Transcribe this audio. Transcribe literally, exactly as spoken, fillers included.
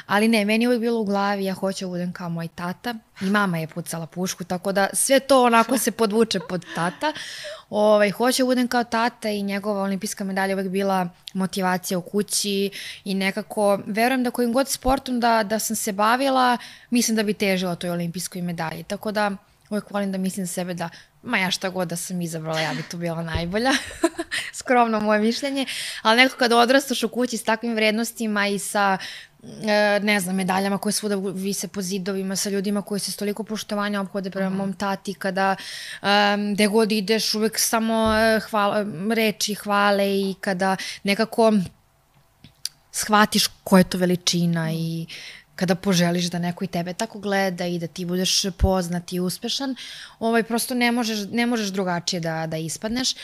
Ali ne, meni je uvijek bilo u glavi, ja hoću da budem kao moj tata i mama je pucala pušku, tako da sve to onako se podvuče pod tata. Ovaj, hoću da budem kao tata i njegova olimpijska medalja uvijek bila motivacija u kući i nekako verujem da kojim god sportom da, da sam se bavila, mislim da bi težila toj olimpijskoj medalji. Tako da uvijek volim da mislim za sebe da ma ja šta god da sam izabrala, ja bi tu bila najbolja. Skromno moje mišljenje. Ali nekako kada odrastaš u kući s takvim vrednostima i sa ne znam, medaljama koje svuda vise po zidovima, sa ljudima koji se s toliko poštovanja ophode prema mom tati, kada um, gde god ideš uvek samo hvala, reči hvale i kada nekako shvatiš ko je to veličina i kada poželiš da neko i tebe tako gleda i da ti budeš poznat i uspešan, ovaj, prosto ne možeš, ne možeš drugačije da, da ispadneš.